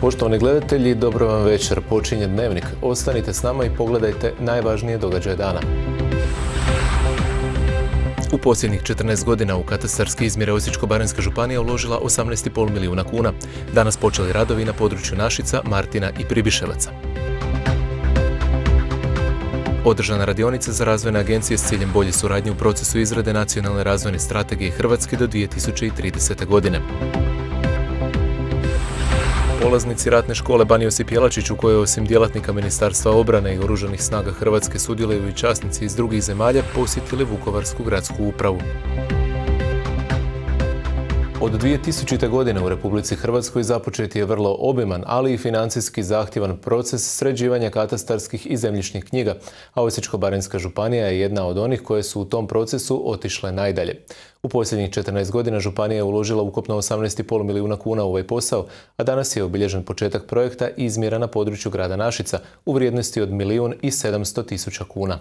Poštovani gledatelji, dobro vam večer. Počinje Dnevnik. Ostanite s nama i pogledajte najvažnije događaje dana. U posljednjih 14 godina u katastarske izmjere Osječko-baranjska županija uložila 18,5 milijuna kuna. Danas počeli radovi na području Našica, Martina i Pribiševaca. Održana radionica za razvojne agencije s ciljem bolje suradnje u procesu izrade nacionalne razvojne strategije Hrvatske do 2030. godine. Polaznici ratne škole Ban Josip Jelačić, u kojoj osim djelatnika Ministarstva obrane i Oružanih snaga Hrvatske sudjeluju i časnici iz drugih zemalja, posjetili Vukovarsku gradsku upravu. Od 2000. godine u Republici Hrvatskoj započet je vrlo obiman, ali i financijski zahtjevan proces sređivanja katastarskih i zemljišnih knjiga, a Osječko-baranjska županija je jedna od onih koje su u tom procesu otišle najdalje. U posljednjih 14 godina županija je uložila ukupno 18,5 milijuna kuna u ovaj posao, a danas je obilježen početak projekta izmjera na području grada Našica u vrijednosti od 1.700.000 kuna.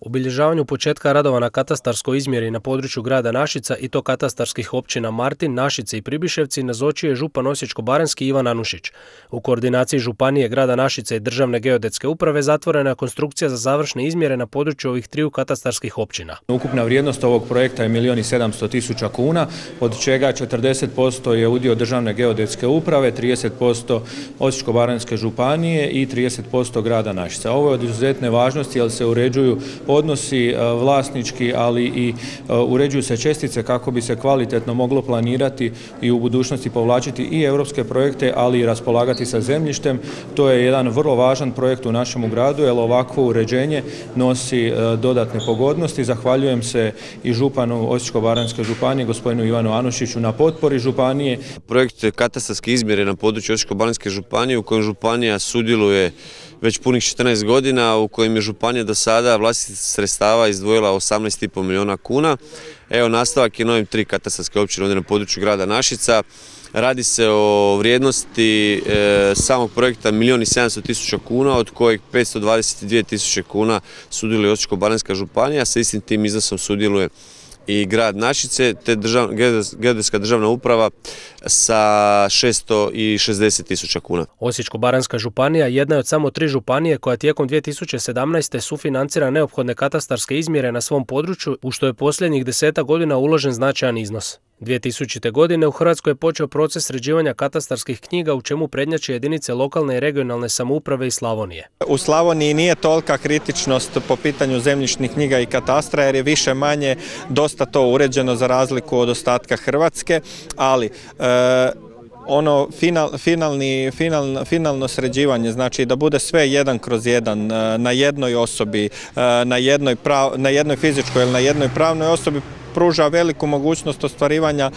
Obilježavanju početka radova na katastarskoj izmjeri na području grada Našica i to katastarskih općina Martin, Našice i Pribiševci nazočio je župan Osječko-baranjski Ivan Anušić. U koordinaciji županije, grada Našice i Državne geodetske uprave zatvorena je konstrukcija za završne izmjere na području ovih triju katastarskih općina. Ukupna vrijednost ovog projekta je 1.700.000 kuna, od čega 40% je udio Državne geodetske uprave, 30% Osječko-baranjske županije i 30% grada Našica. Ovo je od izuzetne važnosti jer se uređuju odnosi vlasnički, ali i uređuju se čestice kako bi se kvalitetno moglo planirati i u budućnosti povlačiti i europske projekte, ali i raspolagati sa zemljištem. To je jedan vrlo važan projekt u našem gradu, jer ovakvo uređenje nosi dodatne pogodnosti. Zahvaljujem se i županu Osječko-baranjske županije, gospodinu Ivanu Anušiću, na potpori županije. Projekt katastarske izmjere na području Osječko-baranjske županije, u kojem županija sudjeluje već punih 14 godina, u kojem je županija do sada vlastitih sredstava izdvojila 18,5 milijuna kuna. Evo, nastavak je novim 3 katastarske općine ovdje na području grada Našica. Radi se o vrijednosti samog projekta 1.700.000 kuna, od kojeg 522.000 kuna sudjeluje Osječko-baranjska županija, sa istim tim iznosom sudjeluje i grad Našice, te geodetska državna uprava sa 660.000 kuna. Osječko-baranjska županija jedna je od samo 3 županije koja tijekom 2017. sufinancira neophodne katastarske izmjere na svom području, u što je posljednjih 10 godina uložen značajan iznos. 2000. godine u Hrvatskoj je počeo proces sređivanja katastarskih knjiga, u čemu prednjače jedinice lokalne i regionalne samouprave i Slavonije. U Slavoniji nije tolika kritičnost po pitanju zemljišnih knjiga i katastra, jer je više manje dosta to uređeno za razliku od ostatka Hrvatske, ali finalno sređivanje, znači da bude sve 1/1 na jednoj osobi, na jednoj fizičkoj ili na jednoj pravnoj osobi, pruža veliku mogućnost ostvarivanja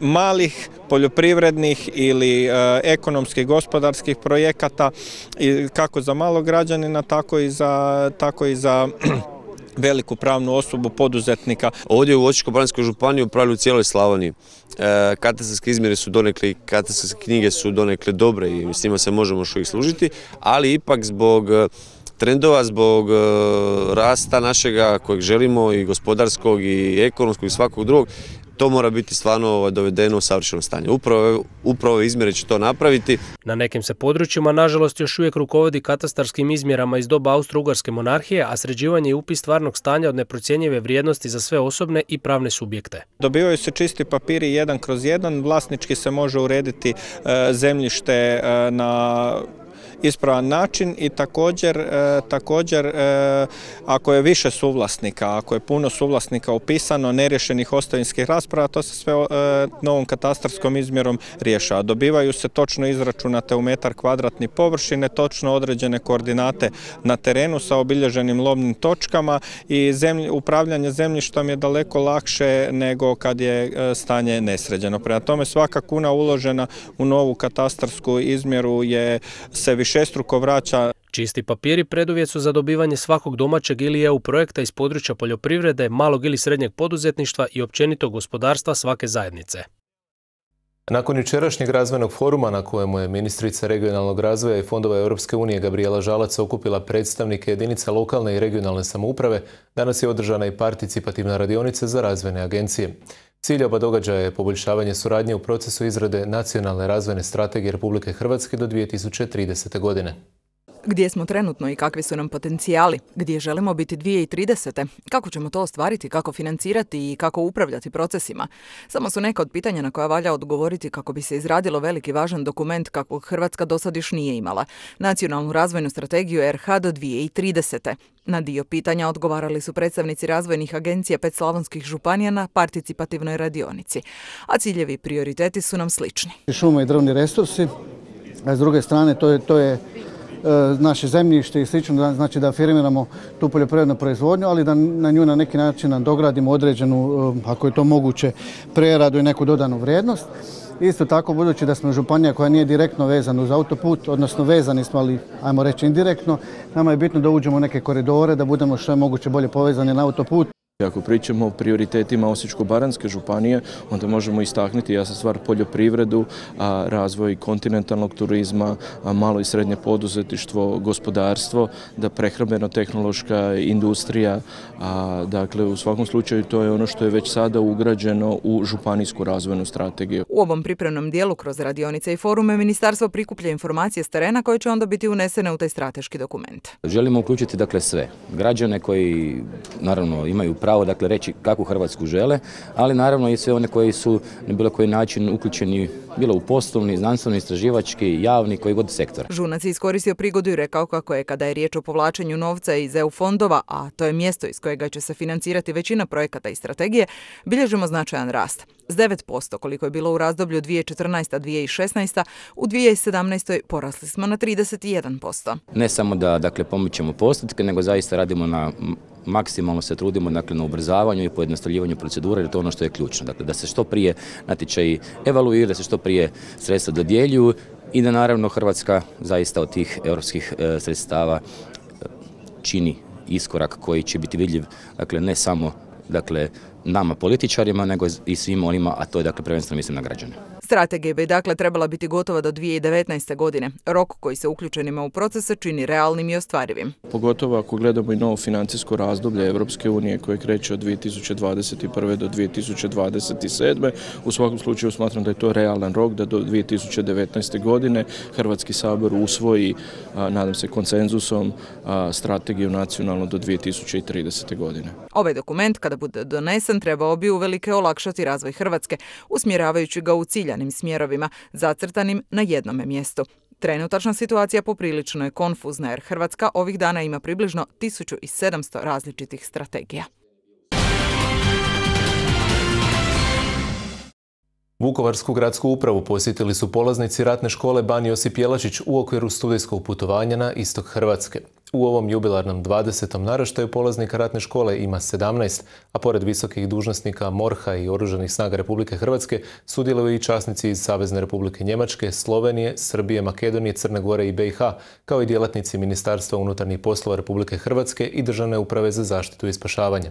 malih poljoprivrednih ili ekonomskih gospodarskih projekata, kako za malog građanina, tako i za veliku pravnu osobu, poduzetnika. Ovdje u Osječko-baranjskoj županiji, u pravilu u cijeloj Slavoniji, katastarske izmjere su donekle i katastarske knjige su donekle dobre i s njima se možemo još uvijek služiti, ali ipak zbog trendova, zbog rasta našega kojeg želimo, i gospodarskog i ekonomskog i svakog drugog, to mora biti stvarno dovedeno u savršeno stanje. Upravo izmjere će to napraviti. Na nekim se područjima, nažalost, još uvijek rukovodi katastarskim izmjerama iz doba Austro-Ugarske monarhije, a sređivanje i upis stvarnog stanja od neprocjenjive vrijednosti za sve osobne i pravne subjekte. Dobivaju se čisti papiri 1/1, vlasnički se može urediti zemljište na ispravan način i također ako je više suvlasnika, ako je puno suvlasnika upisano, neriješenih ostavinskih rasprava, to se sve novom katastarskom izmjerom rješava. Dobivaju se točno izračunate u metar kvadratni površine, točno određene koordinate na terenu sa obilježenim lomnim točkama i upravljanje zemljištom je daleko lakše nego kad je stanje nesređeno. Prema tome, svaka kuna uložena u novu katastarsku izmjeru se višestruko vraća. Čisti papiri preduvjet su za dobivanje svakog domaćeg ili EU projekta iz područja poljoprivrede, malog ili srednjeg poduzetništva i općenito gospodarstva svake zajednice. Nakon jučerašnjeg razvojnog foruma na kojemu je ministrica regionalnog razvoja i fondova Europske unije Gabrijela Žalac okupila predstavnike jedinica lokalne i regionalne samouprave, danas je održana i participativna radionica za razvojne agencije. Cilj oba događaja je poboljšavanje suradnje u procesu izrade nacionalne razvojne strategije Republike Hrvatske do 2030. godine. Gdje smo trenutno i kakvi su nam potencijali? Gdje želimo biti 2030. Kako ćemo to ostvariti, kako financirati i kako upravljati procesima? Samo su neka od pitanja na koja valja odgovoriti kako bi se izradilo veliki važan dokument kakvog Hrvatska dosad još nije imala. Nacionalnu razvojnu strategiju RH do 2030. Na dio pitanja odgovarali su predstavnici razvojnih agencija 5 slavonskih županija na participativnoj radionici. A ciljevi i prioriteti su nam slični. Šume i drvni resursi, a s druge strane to je naše zemljište i slično, znači da afirmiramo tu poljoprivrednu proizvodnju, ali da na nju na neki način dogradimo određenu, ako je to moguće, preradu i neku dodanu vrijednost. Isto tako, budući da smo županija koja nije direktno vezana uz autoput, odnosno vezani smo, ali ajmo reći indirektno, nama je bitno da uđemo u neke koridore, da budemo što je moguće bolje povezani na autoput. Ako pričamo o prioritetima Osječko-baranjske županije, onda možemo istaknuti jasna stvar poljoprivredu, razvoj kontinentalnog turizma, malo i srednje poduzetništvo, gospodarstvo, da prehrambeno-tehnološka industrija, dakle u svakom slučaju to je ono što je već sada ugrađeno u županijsku razvojnu strategiju. U ovom pripremnom dijelu kroz radionice i forume ministarstvo prikuplja informacije s terena koje će onda biti unesene u taj strateški dokument. Želimo uključiti dakle sve građane koji naravno imaju pravo dakle reći kakvu Hrvatsku žele, ali naravno i sve one koji su na bilo koji način uključeni bilo u poslovni, znanstveno, istraživački, javni, koji god sektor. Žunac je iskoristio prigodu i rekao kako je kada je riječ o povlačenju novca iz EU fondova, a to je mjesto iz kojega će se financirati većina projekata i strategije, bilježimo značajan rast. S 9%, koliko je bilo u razdoblju 2014-2016, u 2017. porasli smo na 31%. Ne samo da dakle pomičemo postotke, nego zaista radimo na maksimalno se trudimo dakle, na ubrzavanju i pojednostavljivanju procedura, jer to je ono što je ključno. Dakle, da se što prije natječaji evaluiraju, da se što prije sredstva dodjeljuju i da naravno Hrvatska zaista od tih europskih sredstava čini iskorak koji će biti vidljiv, dakle, ne samo dakle, nama političarima, nego i svima onima, a to je dakle, prvenstveno mislim na građane. Strategija bi dakle trebala biti gotova do 2019. godine. Rok koji se uključenima u procese čini realnim i ostvarivim. Pogotovo ako gledamo i novo financijsko razdoblje Europske unije koje kreće od 2021. do 2027. U svakom slučaju smatram da je to realan rok da do 2019. godine Hrvatski sabor usvoji, nadam se konsenzusom, strategiju nacionalnu do 2030. godine. Ovaj dokument kada bude donesen trebao bi uvelike olakšati razvoj Hrvatske, usmjeravajući ga u ciljanim smjerovima, zacrtanim na jednome mjestu. Trenutačna situacija poprilično je konfuzna jer Hrvatska ovih dana ima približno 1700 različitih strategija. Vukovarsku gradsku upravu posjetili su polaznici ratne škole Ban Josip Jelačić u okviru studijskog putovanja na istok Hrvatske. U ovom jubilarnom 20. naraštaju polaznika ratne škole ima 17, a pored visokih dužnosnika MORH-a i Oružanih snaga Republike Hrvatske sudjeluju i časnici iz Savezne Republike Njemačke, Slovenije, Srbije, Makedonije, Crne Gore i BiH, kao i djelatnici Ministarstva unutarnjih poslova Republike Hrvatske i Državne uprave za zaštitu i spašavanje.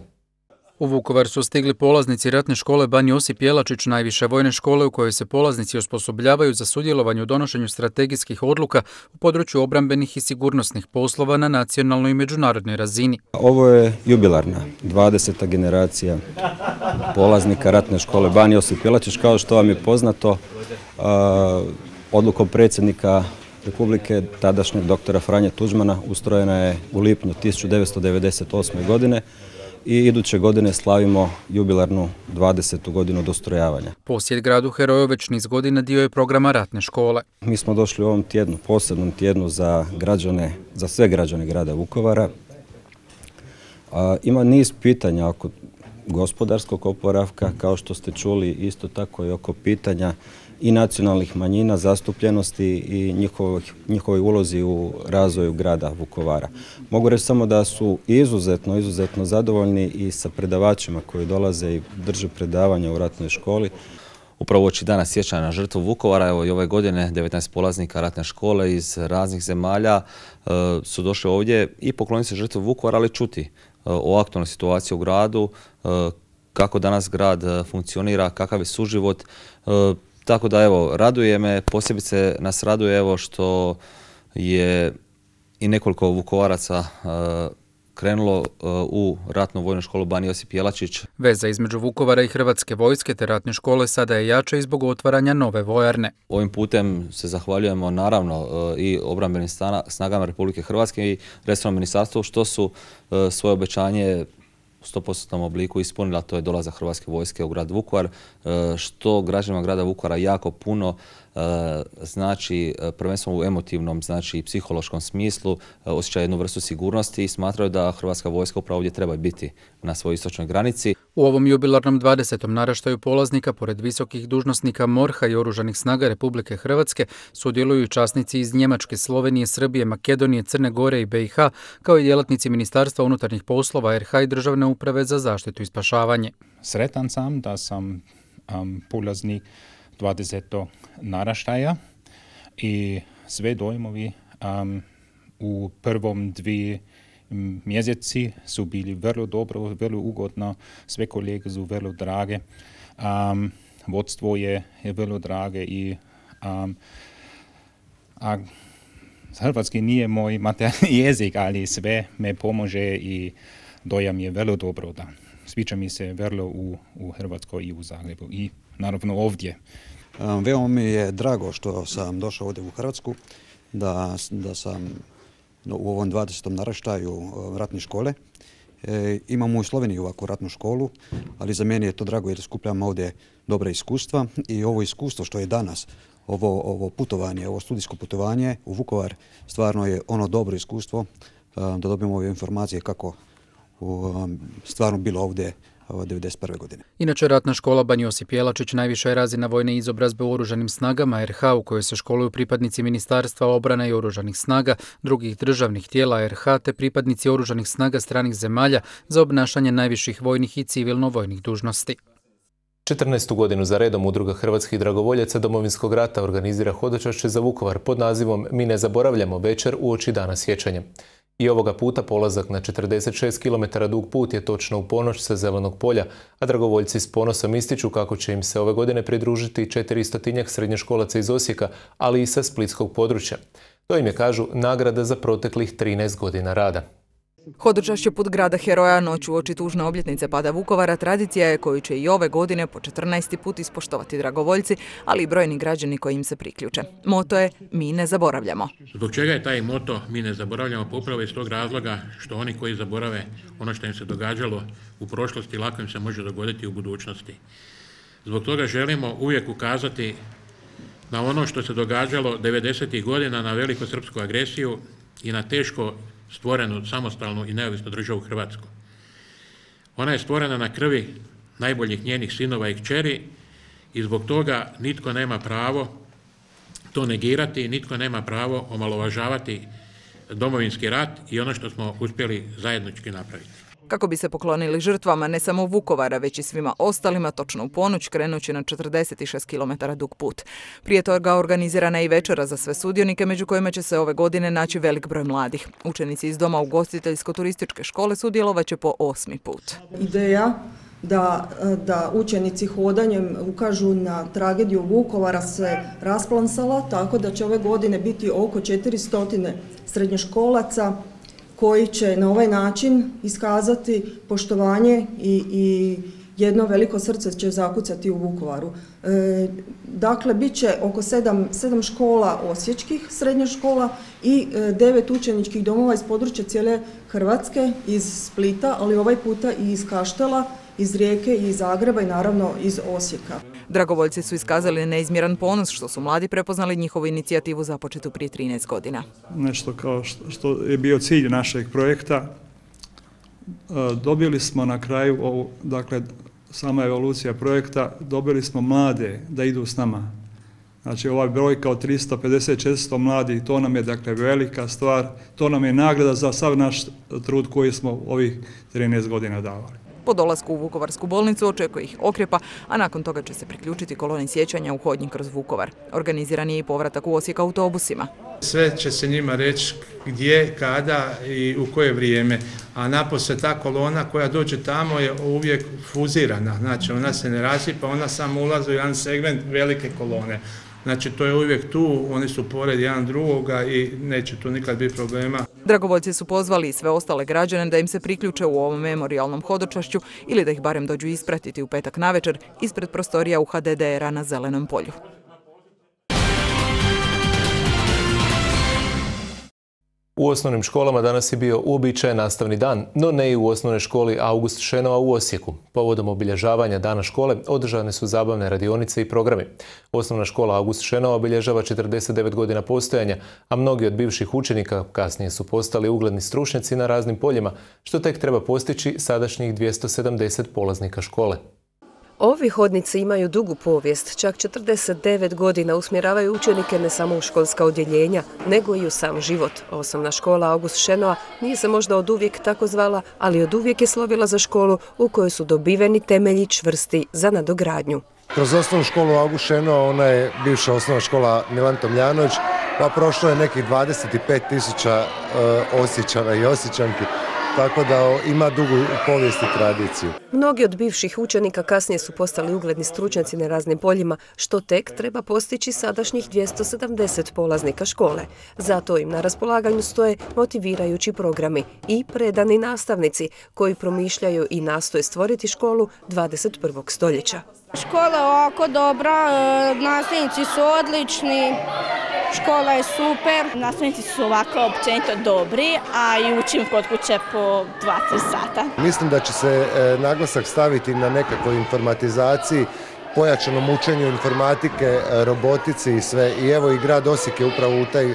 U Vukovar su stigli polaznici ratne škole Ban Josip Jelačić, najviše vojne škole u kojoj se polaznici osposobljavaju za sudjelovanje u donošenju strategijskih odluka u području obrambenih i sigurnosnih poslova na nacionalnoj i međunarodnoj razini. Ovo je jubilarna 20. generacija polaznika ratne škole Ban Josip Jelačić. Kao što vam je poznato, odlukom predsjednika Republike, tadašnjeg doktora Franje Tuđmana, ustrojena je u lipnju 1998. godine. I iduće godine slavimo jubilarnu 20. godinu od ustrojavanja. Posjet gradu heroju već niz godina dio je programa ratne škole. Mi smo došli u ovom tjednu, posebnom tjednu za građane, za sve građane grada Vukovara. Ima niz pitanja oko gospodarskog oporavka, kao što ste čuli, isto tako i oko pitanja i nacionalnih manjina, zastupljenosti i njihovoj ulozi u razvoju grada Vukovara. Mogu reći samo da su izuzetno zadovoljni i sa predavačima koji dolaze i drže predavanja u ratnoj školi. Upravo uoči dana sjećanja na žrtvu Vukovara, evo i ove godine 19 polaznika ratne škole iz raznih zemalja su došli ovdje i pokloniti se žrtvu Vukovara, ali čuti o aktualnoj situaciji u gradu, kako danas grad funkcionira, kakav je suživot. Tako da evo, raduje me, posebice nas raduje evo što je i nekoliko Vukovaraca krenulo u ratnu vojnu školu Ban Josip Jelačić. Veza između Vukovara i Hrvatske vojske te ratne škole sada je jača i zbog otvaranja nove vojarne. Ovim putem se zahvaljujemo naravno i obrambenim snagama Republike Hrvatske i resornom ministarstvu što su svoje obećanje u 100% obliku ispunila, to je dolazak Hrvatske vojske u grad Vukovar, što građanima grada Vukovara jako puno znači prvenstveno u emotivnom, znači i psihološkom smislu, osjećaju jednu vrstu sigurnosti i smatraju da Hrvatska vojska upravo ovdje treba biti na svojoj istočnoj granici. U ovom jubilarnom 20. naraštaju polaznika, pored visokih dužnosnika MORH-a i Oružanih snaga Republike Hrvatske, sudjeluju i časnici iz Njemačke, Slovenije, Srbije, Makedonije, Crne Gore i BiH, kao i djelatnici Ministarstva unutarnjih poslova RH i Državne uprave za zaštitu i spašavanje. Sretan sam da sam polaznik 20. naraštaja i sve dojmovi u prvom 2 mjeseci su bili vrlo dobro, vrlo ugodno, sve kolege su vrlo drage, vodstvo je vrlo drage i hrvatski nije moj materni jezik, ali sve me pomože i dojam je vrlo dobro. Da. Sviđa mi se vrlo u Hrvatskoj i u Zagrebu i naravno ovdje. Veoma mi je drago što sam došao ovdje u Hrvatsku, da sam u ovom 20. naraštaju ratne škole. Imamo u Sloveniji ovakvu ratnu školu, ali za mene je to drago jer skupljam ovdje dobre iskustva i ovo iskustvo što je danas, ovo putovanje, ovo studijsko putovanje u Vukovar, stvarno je ono dobro iskustvo da dobijemo ove informacije kako stvarno bilo ovdje 1991. godine. Inače, ratna škola Ban Josip Jelačić najviša je razina vojne izobrazbe u Oružanim snagama RH u kojoj se školuju pripadnici Ministarstva obrane i Oružanih snaga, drugih državnih tijela RH te pripadnici Oružanih snaga stranih zemalja za obnašanje najviših vojnih i civilno-vojnih dužnosti. 14. godinu za redom Udruga hrvatskih dragovoljaca Domovinskog rata organizira hodočašće za Vukovar pod nazivom Mi ne zaboravljamo večer uoči Dana sjećanja. I ovoga puta polazak na 46 km dug put je točno u ponoć sa Zelenog polja, a dragovoljci s ponosom ističu kako će im se ove godine pridružiti 400 srednjoškolaca iz Osijeka, ali i sa splitskog područja. To im je, kažu, nagrada za proteklih 13 godina rada. Hodočašće put grada heroja noć uoči tužne obljetnice pada Vukovara tradicija je koju će i ove godine po 14. put ispoštovati dragovoljci, ali i brojni građani koji im se priključe. Moto je Mi ne zaboravljamo. Zbog čega je taj moto Mi ne zaboravljamo? Pa upravo iz tog razloga što oni koji zaborave ono što im se događalo u prošlosti lako im se može dogoditi u budućnosti. Zbog toga želimo uvijek ukazati na ono što se događalo 90. godina, na velikosrpsku agresiju i na teško stvorenu samostalnu i neovisnu državu Hrvatsku. Ona je stvorena na krvi najboljih njenih sinova i kćeri i zbog toga nitko nema pravo to negirati, nitko nema pravo omalovažavati Domovinski rat i ono što smo uspjeli zajednički napraviti. Kako bi se poklonili žrtvama ne samo Vukovara, već i svima ostalima, točno u ponoć krenući na 46 km dug put. Prije toga organizirana je i večera za sve sudionike, među kojima će se ove godine naći velik broj mladih. Učenici iz Doma ugostiteljsko-turističke škole sudjelovat će po 8. put. Ideja da učenici hodanjem ukažu na tragediju Vukovara se rasplansala, tako da će ove godine biti oko 400 srednjoškolaca koji će na ovaj način iskazati poštovanje i jedno veliko srce će zakucati u Vukovaru. Dakle, bit će oko 7 škola osječkih srednjih škola i 9 učeničkih domova iz područja cijele Hrvatske, iz Splita, ali ovaj puta i iz Kaštela, iz Rijeke i iz Zagreba i naravno iz Osijeka. Dragovoljci su iskazali neizmjeran ponos što su mladi prepoznali njihovu inicijativu započetu prije 13 godina. Nešto kao što je bio cilj našeg projekta, dobili smo na kraju, dakle, sama evolucija projekta, dobili smo mlade da idu s nama. Znači, ova brojka od 350-400 mladih, to nam je, dakle, velika stvar, to nam je nagrada za sav naš trud koji smo ovih 13 godina davali. Po dolasku u Vukovarsku bolnicu očekuje ih Okrjepa, a nakon toga će se priključiti koloni sjećanja u hodnji kroz Vukovar. Organiziran je i povratak u Osijek autobusima. Sve će se njima reći gdje, kada i u koje vrijeme, a napose ta kolona koja dođe tamo je uvijek fuzirana, znači ona se ne rasipa, ona samo ulazi u jedan segment velike kolone. Znači to je uvijek tu, oni su pored jedan drugoga i neće tu nikad biti problema. Dragovoljci su pozvali i sve ostale građane da im se priključe u ovom memorijalnom hodočašću ili da ih barem dođu ispratiti u petak navečer ispred prostorija u HDDR-a na Zelenom polju. U osnovnim školama danas je bio uobičajen nastavni dan, no ne i u osnovnoj školi August Šenoa u Osijeku. Povodom obilježavanja dana škole održane su zabavne radionice i programi. Osnovna škola August Šenoa obilježava 49 godina postojanja, a mnogi od bivših učenika kasnije su postali ugledni stručnjaci na raznim poljima, što tek treba postići sadašnjih 270 polaznika škole. Ovi hodnici imaju dugu povijest, čak 49 godina usmjeravaju učenike ne samo u školska odjeljenja, nego i u sam život. Osnovna škola August Šenoa nije se možda oduvijek tako zvala, ali oduvijek je slovila za školu u kojoj su dobiveni temelji čvrsti za nadogradnju. Kroz osnovnu školu August Šenoa, ona je bivša osnovna škola Milan Tomljanović, pa prošlo je nekih 25.000 Osječana i Osječanki. Tako da ima dugu povijest i tradiciju. Mnogi od bivših učenika kasnije su postali ugledni stručnjaci na raznim poljima, što tek treba postići sadašnjih 270 polaznika škole. Zato im na raspolaganju stoje motivirajući programi i predani nastavnici koji promišljaju i nastoje stvoriti školu 21. stoljeća. Škola je ovako dobra, nastavnici su odlični, škola je super. Nastavnici su ovako općenito dobri, a i učim kod kuće po 2-3 sata. Mislim da će se naglasak staviti na nekakvoj informatizaciji, pojačanom učenju informatike, robotici i sve. I evo i grad Osijek je upravo u taj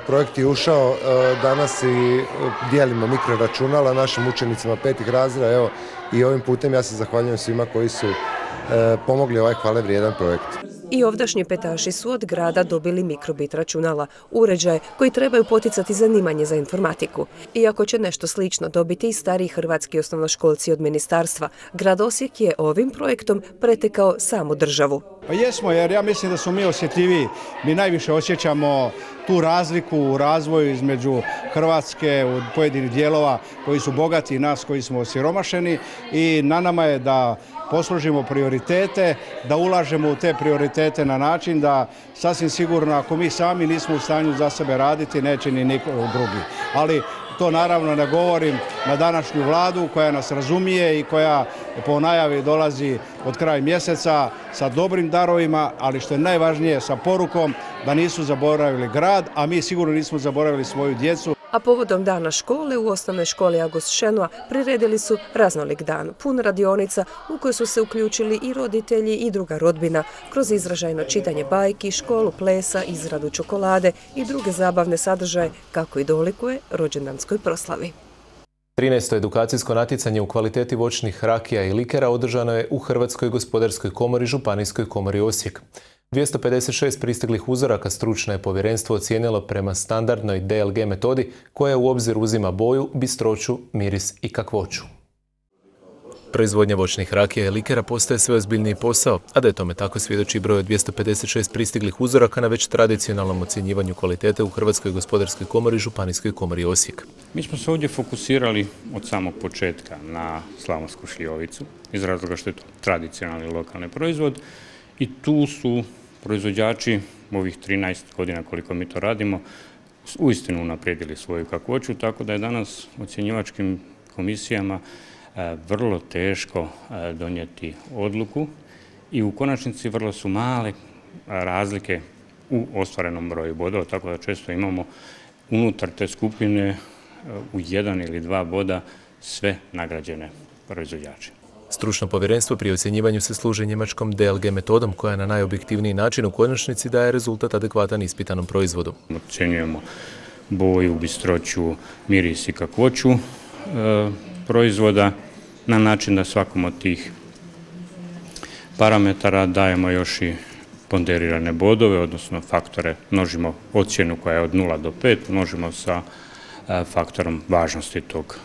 projekt i ušao. Danas i dijelimo mikroračunala našim učenicima 5. razreda. Evo i ovim putem ja se zahvaljujem svima koji su pomogli ovaj hvale vrijedan projekt. I ovdašnji petaši su od grada dobili mikrobit računala, uređaje koji trebaju poticati zanimanje za informatiku. Iako će nešto slično dobiti i stariji hrvatski osnovnoškolci od ministarstva, grad Osijek je ovim projektom pretekao samu državu. Pa jesmo, jer ja mislim da smo mi osjetljiviji. Mi najviše osjećamo tu razliku u razvoju između Hrvatske u pojedinih dijelova koji su bogati i nas koji smo osiromašeni i na nama je da posložimo prioritete, da ulažemo u te prioritete na način da sasvim sigurno ako mi sami nismo u stanju za sebe raditi, neće ni niko drugi. Ali to naravno ne govorim na današnju vladu koja nas razumije i koja po najavi dolazi od kraja mjeseca sa dobrim darovima, ali što je najvažnije sa porukom da nisu zaboravili grad, a mi sigurno nismo zaboravili svoju djecu. A povodom dana škole u osnovnoj školi August Šenoa priredili su raznolik dan, pun radionica u kojoj su se uključili i roditelji i druga rodbina kroz izražajno čitanje bajki, školu plesa, izradu čokolade i druge zabavne sadržaje kako i dolikuje rođendanskoj proslavi. 13. edukacijsko natjecanje u kvaliteti voćnih rakija i likera održano je u Hrvatskoj gospodarskoj komori Županijskoj komori Osijek. 256 pristiglih uzoraka stručno je povjerenstvo ocijenilo prema standardnoj DLG metodi koja u obzir uzima boju, bistroću, miris i kakvoću. Proizvodnja voćnih rakija i likera postaje sve ozbiljniji posao, a da je tome tako svjedoči broj od 256 pristiglih uzoraka na već tradicionalnom ocjenjivanju kvalitete u Hrvatskoj gospodarskoj komori Županijskoj komori Osijek. Mi smo se ovdje fokusirali od samog početka na slavonsku šljivovicu, iz razloga što je to tradicionalni lokalni proizvod i tu su proizvođači ovih 13 godina koliko mi to radimo uistinu unaprijedili svoju kakvoću, tako da je danas ocjenjivačkim komisijama vrlo teško donijeti odluku i u konačnici vrlo su male razlike u ostvarenom broju bodova, tako da često imamo unutar te skupine u 1 ili 2 boda sve nagrađene proizvođače. Stručno povjerenstvo pri ocjenjivanju se služi njemačkom DLG metodom koja na najobjektivniji način u konačnici daje rezultat adekvatan ispitanom proizvodu. Ocjenjujemo boju, bistroću, miris i kakvoću proizvoda na način da svakom od tih parametara dajemo još i ponderirane bodove, odnosno faktore, množimo ocjenu koja je od 0 do 5, množimo sa faktorom važnosti tog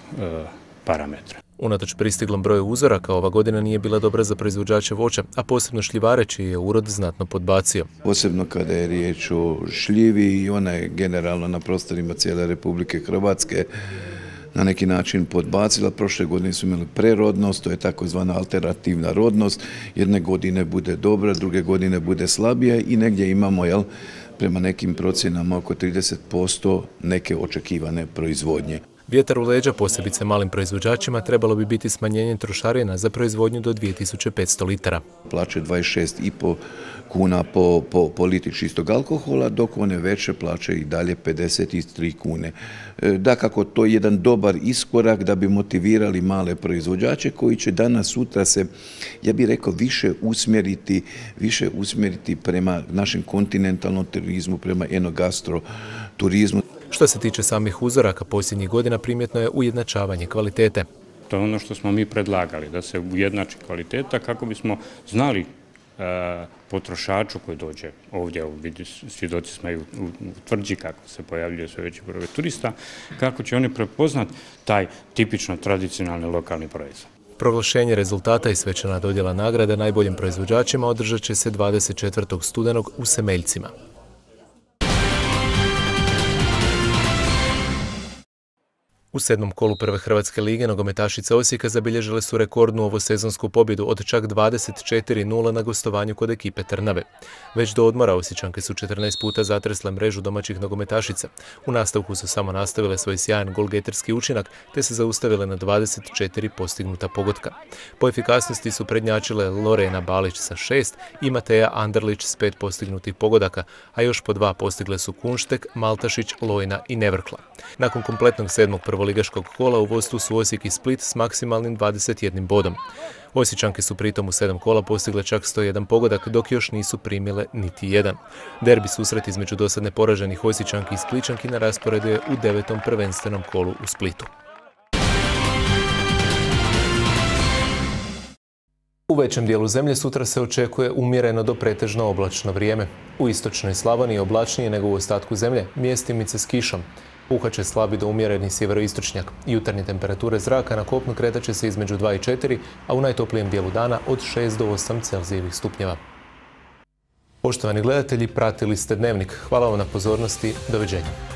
parametra. Unatoč pristiglom broju uzoraka, ova godina nije bila dobra za proizvođače voća, a posebno šljivare čiji je urod znatno podbacio. Posebno kada je riječ o šljivi i ona je generalno na prostorima cijele Republike Hrvatske na neki način podbacila. Prošle godine su imali prerodnost, to je takozvana alternativna rodnost. Jedne godine bude dobra, druge godine bude slabija i negdje imamo, prema nekim procjenama oko 30% neke očekivane proizvodnje. Vjetar u leđa posebice malim proizvođačima trebalo bi biti smanjenje trošarina za proizvodnju do 2500 litara. Plaće 26,5 kuna po litri čistog alkohola, dok one veće plaće i dalje 53 kune. Dakako, to je jedan dobar iskorak da bi motivirali male proizvođače koji će danas, sutra se, ja bih rekao, više usmjeriti prema našem kontinentalnom turizmu, prema enogastro turizmu. Što se tiče samih uzoraka, posljednjih godina primjetno je ujednačavanje kvalitete. To je ono što smo mi predlagali, da se ujednači kvaliteta kako bismo znali potrošaču koji dođe ovdje, svjedoci smo i u Tvrđi kako se pojavljuje sve veći broj turista, kako će oni prepoznati taj tipično tradicionalni lokalni proizvod. Proglašenje rezultata i svečana dodjela nagrade najboljim proizvođačima održat će se 24. studenog u Semeljcima. U 7. kolu prve Hrvatske lige nogometašice Osijeka zabilježile su rekordnu ovosezonsku pobjedu od čak 24-0 na gostovanju kod ekipe Trnave. Već do odmora Osječanke su 14 puta zatresle mrežu domaćih nogometašica. U nastavku su samo nastavile svoj sjajan golgeterski učinak te se zaustavile na 24 postignuta pogotka. Po efikasnosti su prednjačile Lorena Balić sa 6 i Mateja Anderlić s 5 postignutih pogodaka, a još po 2 postigle su Kunštek, Maltašić, Lojna i Nevrkla. Nakon kompletnog 7. prvoligaškog kola u vodstvu su Osijek i Split s maksimalnim 21 bodom. Osječanke su pritom u 7 kola postigle čak 101 pogodak, dok još nisu primile niti jedan. Derbi susret između dosadne poraženih Osječanki i Splićanki na rasporedu je u 9. prvenstvenom kolu u Splitu. U većem dijelu zemlje sutra se očekuje umjereno do pretežno oblačno vrijeme. U istočnoj Slavoniji oblačnije nego u ostatku zemlje, mjestimice s kišom. Puhat će slabi do umjereni sjeveroistočnjak. Jutarnje temperature zraka na kopnu kretat će se između 2 i 4, a u najtoplijem dijelu dana od 6 do 8 Celzijevih stupnjeva. Poštovani gledatelji, pratili ste Dnevnik. Hvala vam na pozornosti. Doviđenja.